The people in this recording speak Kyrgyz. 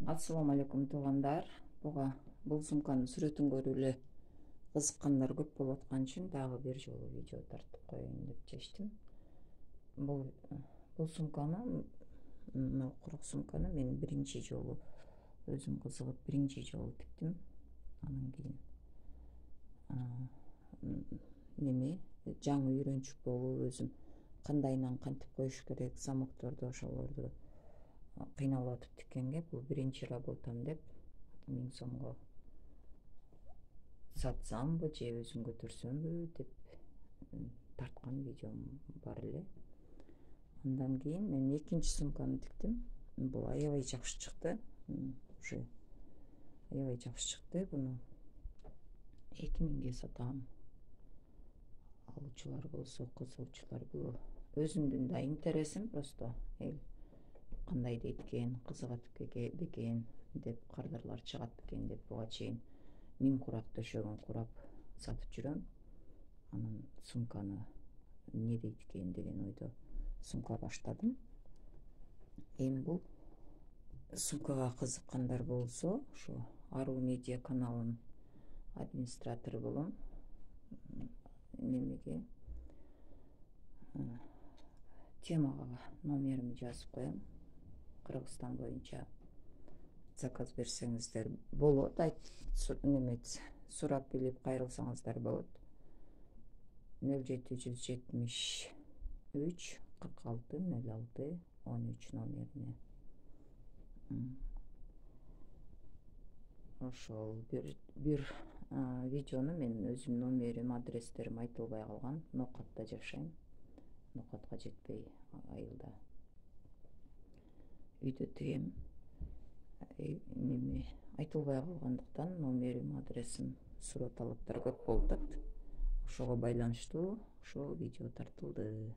Ассаламу алейкум туугандар. Бул сумканын сүрөтүн көрүп эле кызыккандар көп болуп аткан үчүн дагы бир жолу видео тартып коеюн деп чечтим. Бул сумканы, курак сумканы мен биринчи жолу өзүм кызыгып биринчи жолу тиктим. Анан кийин жаңы үйрөнчүк болуп өзүм кандайынан кантип коюш керек, замокторду ошолорду кыйналып атып тиккенге бул биринчи работам деп 1000 сомго сатсамбы же өзүм көтөрсөмбү деп тарткан видеом бар эле. Андан кийин мен экинчи сумканы тиктим. Бул аябай жакшы чыкты. Уже аябай жакшы чыкты. Буну 2000ге сатам. Алуучулар болсо, кызыгуучулар бул өзүмдүн да интересим, просто кандай дейт экен, кызыгат бекен деп, кардарлар чыгат бекен деп буга чейин 1000 курак төшөгөн курап сатып жүрөм. Анан сумканы эмне дейт экен деген ойдо сумка баштадым. Эми бул сумкага кызыккандар болсо, ошо Аруу медиа каналынын администратору болом. Немеге темага номеримди жазып коем. Кыргызстан боюнча заказ берсеңиздер болот, сурап билип кайрылсаңыздар болот. 0773 46 06 13 номерине. Ошол бир видеону мен өзүмдүн номерим, адрестерим айтылбай калган. Нокатта жашайм. Нокатка жетпей айылда үйдө тигем. Айтылбай калгандыктан номерим, адресим суроо талаптар көп болуп атат. Ошого байланыштуу ушул видео тартылды.